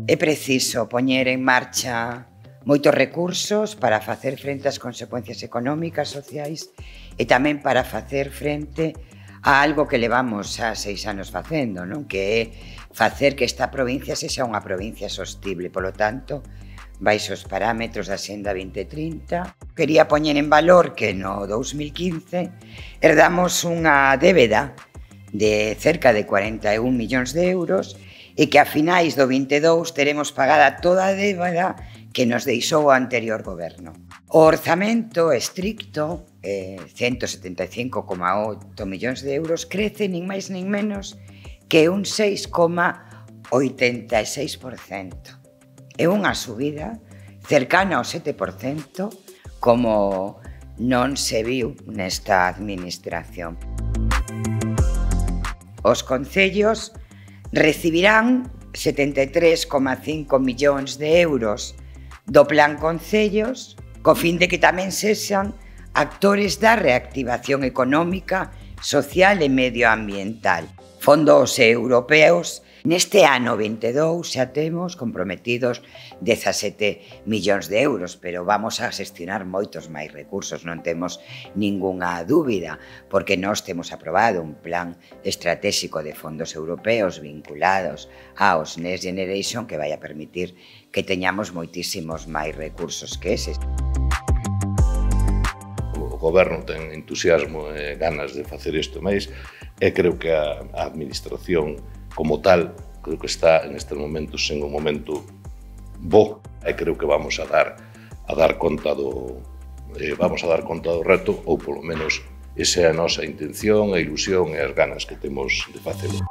É preciso poñer en marcha moitos recursos para facer frente ás consecuencias económicas, sociais e tamén para facer frente a algo que levamos xa 6 anos facendo, non? Que é facer que esta provincia sexa unha provincia sostible. Polo tanto, baixo os parámetros da Xenda 2030, quería poñer en valor que no 2015 herdamos unha débeda de cerca de 41 millóns de euros e que a finais do 22 teremos pagada toda a débeda que nos deixou o anterior goberno. O orzamento estricto, 175,8 millóns de euros, crece nin máis nin menos que un 6,86%. É unha subida cercana ao 7%, como non se viu nesta administración. Os concellos recibirán 73,5 millóns de euros do Plan Concellos, co fin de que tamén sexan actores da reactivación económica, social e medioambiental. Fondos europeos, neste ano 22 xa temos comprometidos 17 millóns de euros, pero vamos a xestionar moitos máis recursos, non temos ningunha dúbida, porque nós temos aprobado un plan estratégico de fondos europeos vinculados aos Next Generation que vai a permitir que teñamos moitísimos máis recursos que eses. O goberno ten entusiasmo e ganas de facer isto máis e creo que a administración como tal, creo que está en estes momentos en un momento bo e creo que vamos a dar conta do reto, ou polo menos esa é a nosa intención, a ilusión e as ganas que temos de facelo.